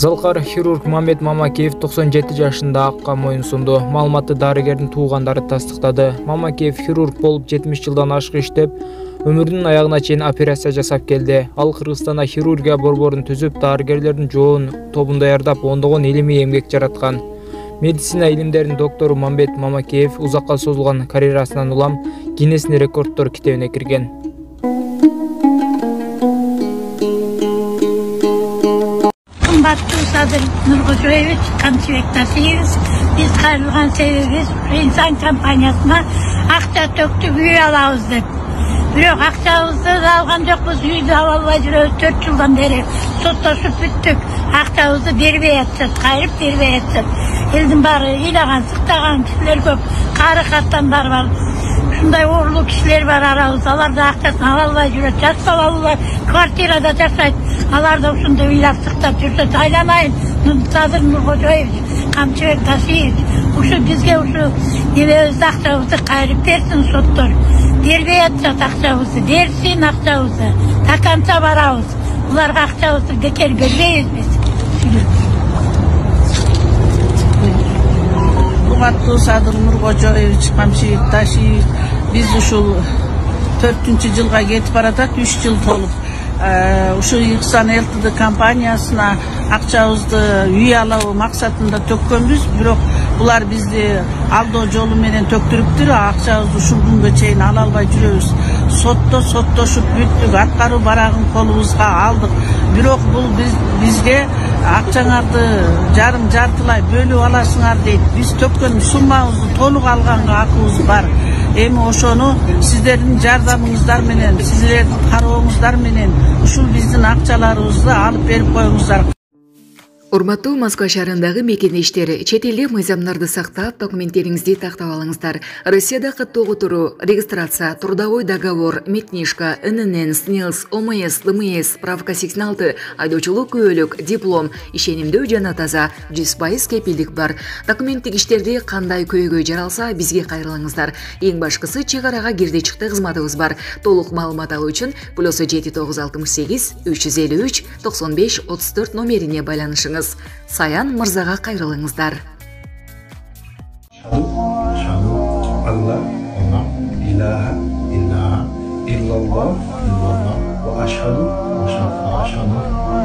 Залкар хирург Мамбет Мамакеев 97 жашында акка моюн сунду. Маалыматты дарыгердин туугандары тастыктады. Мамакеев хирург болуп 70 жылдан ашык иштеп, өмүрүнүн аягына чейин операция жасап келди. Ал Кыргызстанда хирургия борборун түзүп, дарыгерлердин жоон тобун даярдап, ондогон илимий эмгек жараткан. Медицина илимдеринин доктору Мамбет Мамакеев узакка созулган карьерасынан улам Гиннестин рекорддор китебине кирген. Садыр Нуркожоевич, Камчыбек Тасиевич, биз кайрылган себебибиз инсан компаниясына акча төктүп үй алабыз деп. Бирок акчабызды алган жокпуз, үйдү ала албай жүрөбүз 4 жылдан бери. Соттошуп бүттүк. Акчабызды бербей атышат, кайрып бербей атышат. Элдин баары ыйлаган, сыктаган кишилер көп, кары каттандар бар. Ушундай оорлуу кишилер бар арабыз, алар да акчасын ала албай жүрөт. Жаш балалуулар квартирада жашайт. Алар да ушундай ыйлап сыктап жүрсөт. Айланайын, Садыр Нуркожоевич, Камчыбек Тасиевич, ушу бизге ушу небебизди акчабызды кайрып берсин соттор. Бербей атышат акчабызды, берсин акчабызды. Таканча барабыз. Буларга акчабызды бекер бербейбиз биз. Урматтуу Садыр Нуркожоевич, Камчыбек Тасиевич, биз ушул 4-жылга кетип баратат, 3 жыл толуп. Ушу Ихсан ЛТД компаниясына акчабызды үй алуу максатында төккөнбүз, бирок булар бизди алдоо жолу менен төктүрүптүр. Акчабызды ушул күнгө чейин ала албай жүрөбүз. Соттошуп бүттүк, аткаруу барагын колубузга алдык. Бирок бул бизге акчаңарды жартылай бөлүп аласыңар дейт. Биз төккөн суммабызды толук алганга акыбыз бар. Эми ошону сиздердин жардамыңыздар менен, сиздердин карооңуздар менен ушул биздин акчаларыбызды алып берип коюңуздар. Урматтуу Москва шаарындагы мекендештер, чет элде мыйзамдарды сактап, документтериңизди тактап алыңыздар. Россияда каттоо которуу, регистрация, трудовой договор, медкнижка, ННН, СНИЛС, ОМС, ДМС, справка 86, айдоочулук күбөлүк, диплом, ишенимдүү жана таза, 100% кепилдик бар. Документтик иштерди кандай көйгөй жаралса, бизге кайрылыңыздар. Эң башкысы чек арага кирди-чыкты кызматыбыз бар. Толук маалымат алуу үчүн +7968 353 95 34 номерине байланышыңыз. Саян мырзага кайрылыңыздар. Шаду Алла илаха иллаллах ва ашхаду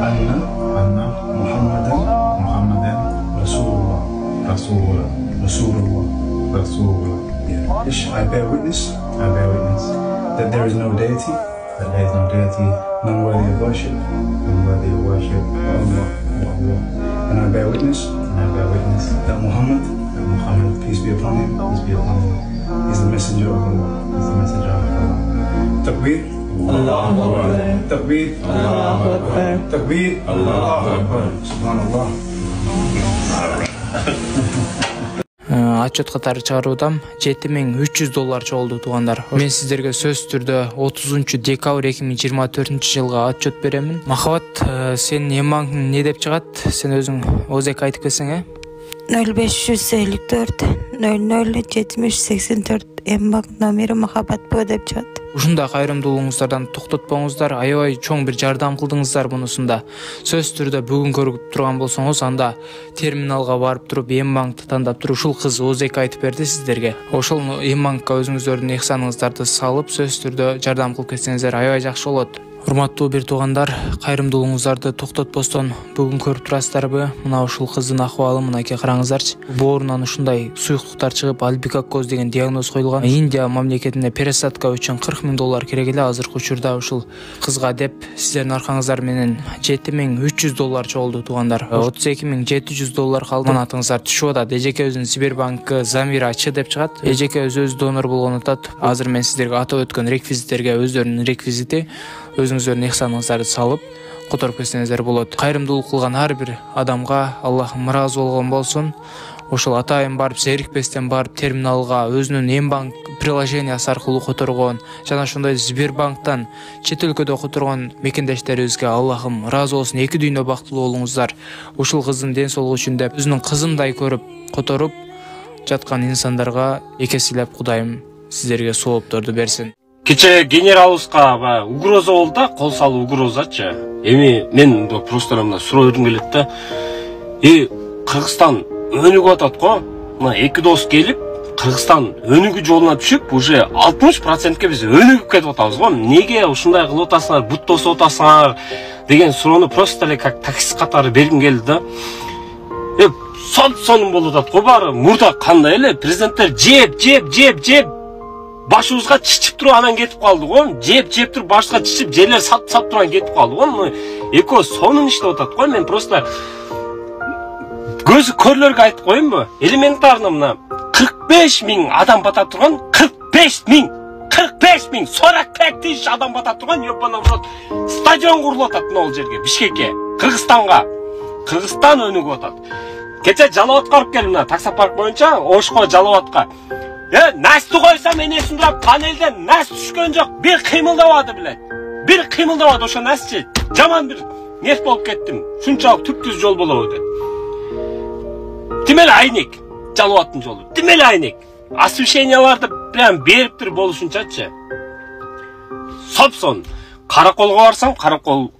анна Мухаммадан Rasulullah. I bear witness that there is no deity, none worthy of worship, Allah. And I bear witness that Muhammad, peace be upon him, is the messenger of Allah. Takbir, Allahu Akbar. Takbir, Allahu Akbar. Takbir, Allahu Akbar. Subhanallah. Отчет катары чыгаруудам $7300 чогулду туугандар. Мен сиздерге сөзсүз түрдө 30 декабрь 2024 жылга отчет беремин. Махабат, сен эмбанк не деп чыгат? Сен өзүң ОЗК айтып келсең, 0554 00 70 84 эмбанк номери Махабат Б деп чыгат. Ушундай кайрымдуулугуңуздардан токтотпоңуздар, аябай чоң бир жардам кылдыңыздар мунусунда. Сөзсүз түрдө бүгүн көрүп турган болсоңуз, анда терминалга барып туруп эмбанкты тандап туруп, ушул кыз ОЗК айтып берди сиздерге. Ошол эмбанкка өзүңүздөрдүн ыхсаныңыздарды салып, сөзсүз түрдө жардам кылып кетсеңиздер аябай жакшы болот. Урматтуу бир туугандар, кайрымдуулугуңуздарды токтотпостон бүгүн көрүп турасыздарбы? Мына ушул кыздын акыбалы мынакей караңыздарчы. Боорунан ушундай суюктуктар чыгып, альбикакоз деген диагноз коюлган. Индия мамлекетине пересадка үчүн $40,000 керек эле. Азыркы учурда ушул кызга деп сиздердин аркаңыздар менен $7300 чогулду туугандар. $32,700 калды. Манатыңыздар түшүп атат. Эжекебиздин Сбербанкы Замира Ч деп чыгат. Эжекебиз өзү донор болгон атат. Азыр мен сиздерге атап өткөн реквизиттерге өздөрүнүн реквизити, өзүңүздөрдүн ыхсаныңыздарды салып которуп кетсеңиздер болот. Кайрымдуулук кылган ар бир адамга Аллахым ыраазы болгон болсун. Ошол атайын барып, зерикпестен барып терминалга өзүнүн эмбанк приложениясы аркылуу которгон жана ошондой Сбербанктан чет өлкөдө которгон мекендештерибизге Аллахым ыраазы болсун. Эки дүйнө бактылуу болуңуздар. Ушул кыздын ден соолугу үчүн деп өзүнүн кызымдай көрүп которуп жаткан инсандарга экесилеп Кудайым сиздерге соопторду берсин. Кече генералыбызга угроза болду да, кол салуу угрозачы. Эми мен просто мына суроо бергим келет да. Кыргызстан өнүгүп атат го. Мына эки дос келип, Кыргызстан өнүгүү жолуна түшүп, уже 60%ке биз өнүгүп кетип атабыз го. Неге ушундай кылып атасыңар, бут тосуп атасыңар деген суроону просто эле как таксист катары бергим келди да. Сонун болуп атат го баары. Мурда кандай эле президенттер жеп башыбызга чичип туруп анан кетип калды го. Жеп туруп башыбызга чичип, жерлер сап туруп анан кетип калды го. Экөө сонун иштеп атат го. Мен просто көзү көрлөргө айтып коеюнбу? Элементарно мына 45 000 адам бата турган, 45 000 40 тысяч адам бата турган ёбана урод стадион курулуп атат мына бул жерге, Бишкекке, Кыргызстанга. Кыргызстан өнүгүп атат. Кече Жалал-Абадка барып келдим, мына таксопарк боюнча Ошко Жалал-Абадка. Насты койсам энесин турап панелден нас түшкөн жок, бир кыймылдабады билет. Бир кыймылдабады ошо насчы. Жаман бир нерс болуп кеттим. Шунчалык түптүз жол болобу деп. Тимел айнек Жалал-Абадтын жолу. Тимел айнек. Освещенияларды прям бериптир болушунчачы. Сопсон. Караколго барсам, Каракол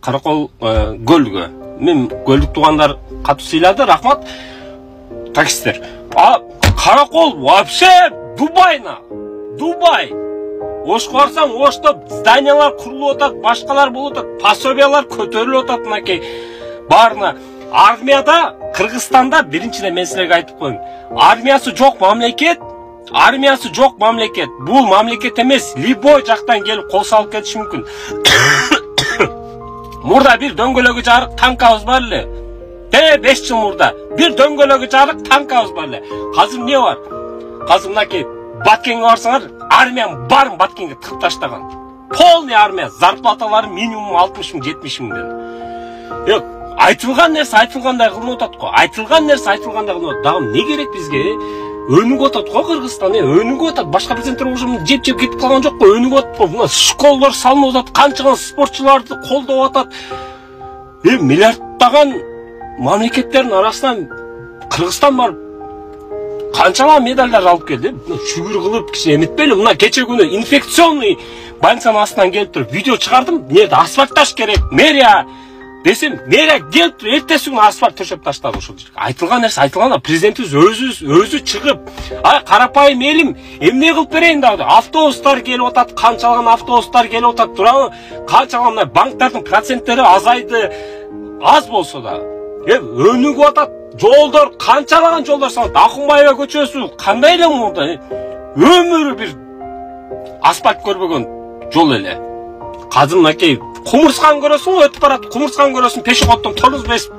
көлгө. Мен көлдүк туугандар катуу сыйлады, рахмат. Таксисттер. Каракол вообще Дубай. Ошко барсам, Ошто зданиялар курулуп атат, башкалар болуп атат, пособиялар көтөрүлүп атат мынакей. Баарына армияда, Кыргызстанда биринчиден мен силерге айтып коеюн. Армиясы жок мамлекет. Бул мамлекет эмес, любой жактан келип кол салып кетиши мүмкүн. Мурда бир дөңгөлөгү жарык танкабыз бар эле. 5 жыл мурда бир дөңгөлөгү жарык танкабыз бар эле. Азыр эмне бар? Азыр мынакей Баткенге барсаңар, армиянын баарын Баткенге тыгып таштаган. Полный армия, зарплаталары минимум 60 000, 70 000. Айтылган нерсе айтылгандай кылынып атат го. Дагы эмне керек бизге? Өнүгүп атат го Кыргызстан, өнүгүп атат. Башка президенттер уже жеп кетип калган жок го, өнүгүп атат го. Мына школалар салынып атат, канчаган спортчуларды колдоп атат. Миллиарддаган мамлекеттердин арасынан Кыргызстан бар. Канчалар медалдар алып келди. Шүгүр кылып киши эметпейли. Мына кече күнү инфекционный больницанын астынан келип туруп видео чыгардым. Эмнеде асфальтташ керек? Мэрия десем, мэрия келип туруп эртеси күнү асфальт төшөп таштады ошол жерге. Айтылган нерсе айтылган, президентибиз өзү чыгып, карапайым элим, эмне кылып берейин дагы? Автобустар келип атат, канчалаган автобустар келип атат, туурабы? Канчалаган банктардын проценттери азайды. Аз болсо да. Өнүгүп атат. Жолдор, канчалаган жолдор салат. Акунбаева көчөсү кандай эле мурда? Өмүрү бир асфальт көрбөгөн жол эле. Азыр мынакей кумурсканы көрөсүң, өтүп барат, кумурсканы көрөсүң, пешеходдон торус бесип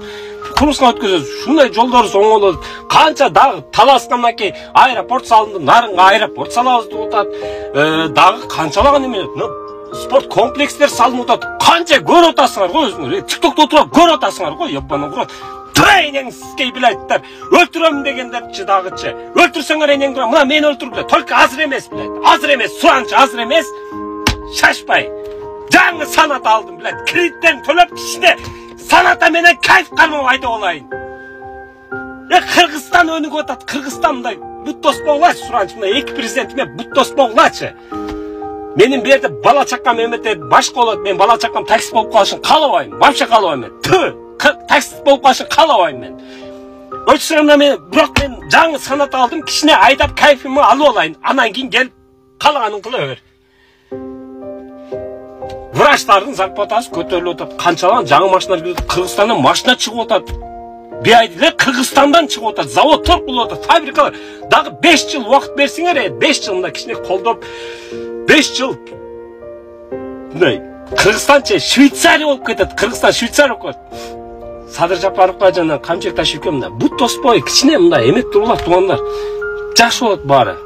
кумурсканы өткөзөсүң. Шундай жолдорубуз оңолот. Канча дагы Таласка мынакей аэропорт салынды, Нарынга аэропорт салабыз деп атат. Дагы канчалаган эме, спорт комплекстер салынып атат. Канча көрүп атасыңар го өзүңөр. TikTokто отуруп көрүп атасыңар го, ёбана урод. Трейнингский билеттер. Өлтүрөм дегендерчи дагычы. Өлтүрсөңөр энең тура. Мына мени өлтүрүп, только азыр эмес билет. Азыр эмес, суранчы азыр эмес. Шашпай. Жаңы санат алдым билет. Кредиттерин төлөп кичине саната менен кайф кармап айдап алайын. Кыргызстан өнүгүп атат. Кыргызстандай бут тоспогулачы суранчы. Мына эки президентиме бут тоспогулачы. Менин бу жерде бала чакам эметет, башка болот. Мен бала чакам таксист болуп калышын каалабайм. Вообще каалабайм. Таксист болуп калышын каалабайм мен. Өчсөмдө бирок мен жаңы санат алдым, кичине айдап кайфымды алып алайын. Анан кийин келип каалаганын кыла бер. Врачтардын зарплатасы көтөрүлүп атат. Канчалаган жаңы машиналар келип, Кыргызстандан машина чыгып атат. Бейайдылар Кыргызстандан чыгып атат. Заводдор кулуп атат, фабрикалар. Дагы 5 жыл убакыт берсиңер, 5 жыл мында кичине колдоп 5 жыл. Мындай Кыргызстанча Швейцария болуп кетет. Кыргызстан Швейцария болуп кетет. Садыр Жапаровго жана Камчек Ташевке мына бут тоспой кичине мындай эмет тургула туугандар. Жакшы болот баары.